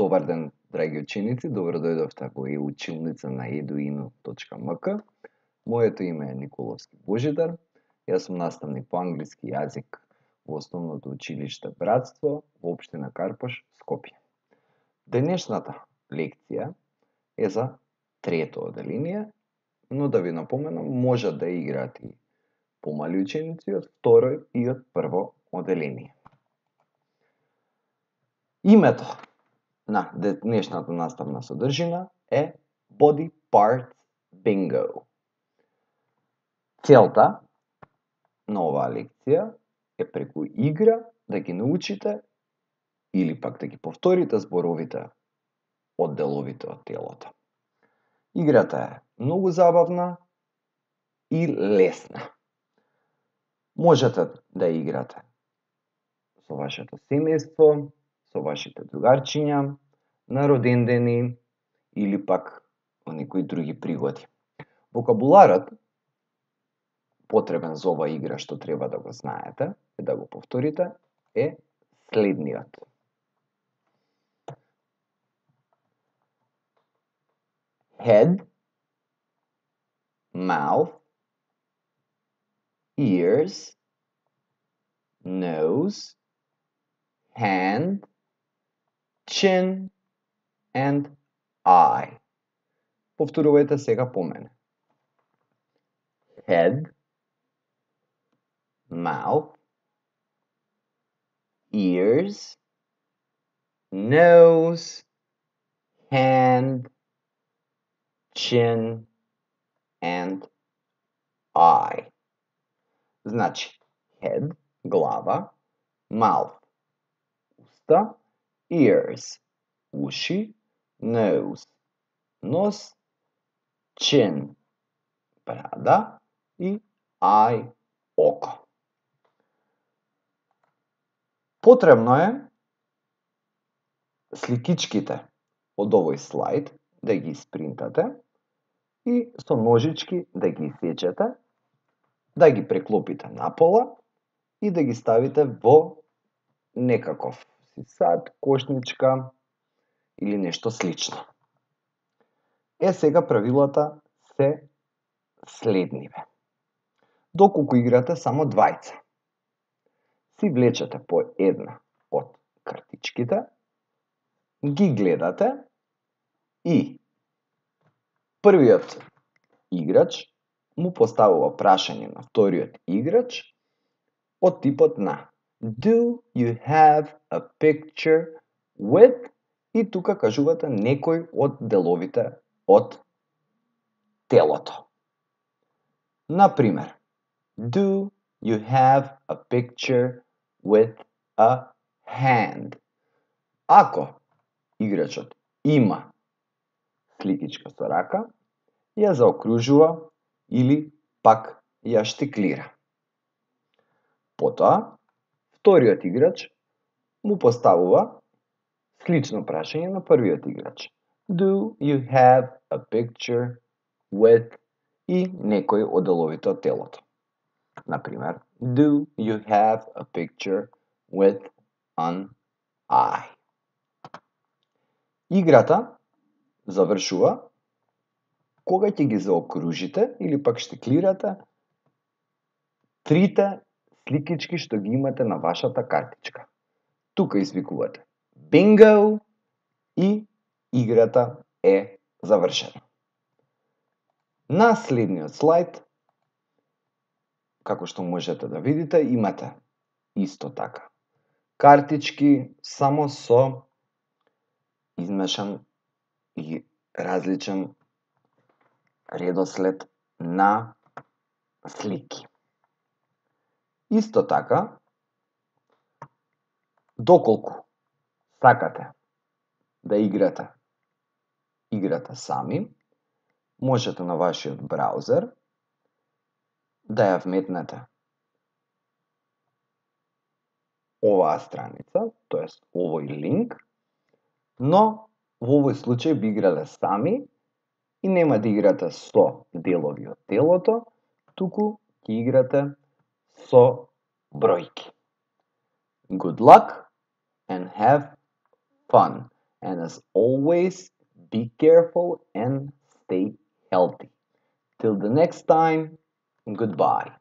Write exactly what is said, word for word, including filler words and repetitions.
Добар ден, драги ученици, добро дојдовте во e-училница на eduinu точка ем ка. Моето име е Николовски Божидар. Јас сум наставник по англиски јазик во основното училиште Братство во општина Карпош, Скопје. Денешната лекција е за трето оделение, но да ви напоменам, може да играат и помали ученици од второ и од прво оделение. Името на денешната наставна содржина е Body Parts Bingo. Целта на оваа лекција е преку игра да ги научите или пак да ги повторите зборовите од деловите од телото. Играта е многу забавна и лесна. Можете да играте со вашето семејство, со вашите другарчиња, на родендени или пак во некои други пригоди. Вокабуларот потребен за оваа игра што треба да го знаете и да го повторите е следниот. Head, mouth, ears, nose, hand, chin and eye. Повторувајте сега по мене. Head, mouth, ears, nose, hand, chin and eye. Значи, head, глава, mouth, уста, ears, уши, nose, нос, chin, брада и eye, око. Потребно е сликичките од овој слайд да ги испринтате и со ножички да ги исечете, да ги преклопите напола и да ги ставите во некаков сад, кошничка или нешто слично. Е, сега правилата се следниве. Доколку играте само двајца, си влечете по една од картичките, ги гледате и првиот играч му поставува прашање на вториот играч од типот на Do you have a picture with? И тука кажувате некој од деловите од телото. Например, Do you have a picture with a hand? Ако играчот има сликичка со рака, ја заокружува или пак ја штиклира. Потоа, вториот играч му поставува слично прашање на првиот играч. Do you have a picture with и некој од деловите од телото? Например, Do you have a picture with an eye? Играта завршува кога ќе ги заокружите или пак штиклирате трите сликички што ги имате на вашата картичка. Тука извикувате Bingo и играта е завршена. На следниот слайд, како што можете да видите, имате исто така картички, само со измешан и различен редослед на слики. Исто така, доколку сакате да играте играта сами, можете на вашиот браузер да ја вметнете оваа страница, тоест овој линк, но во овој случај би играле сами и нема да играте со делови од телото, туку ќе играте со бројки. Good luck and have fun. And as always, be careful and stay healthy. Till the next time, goodbye.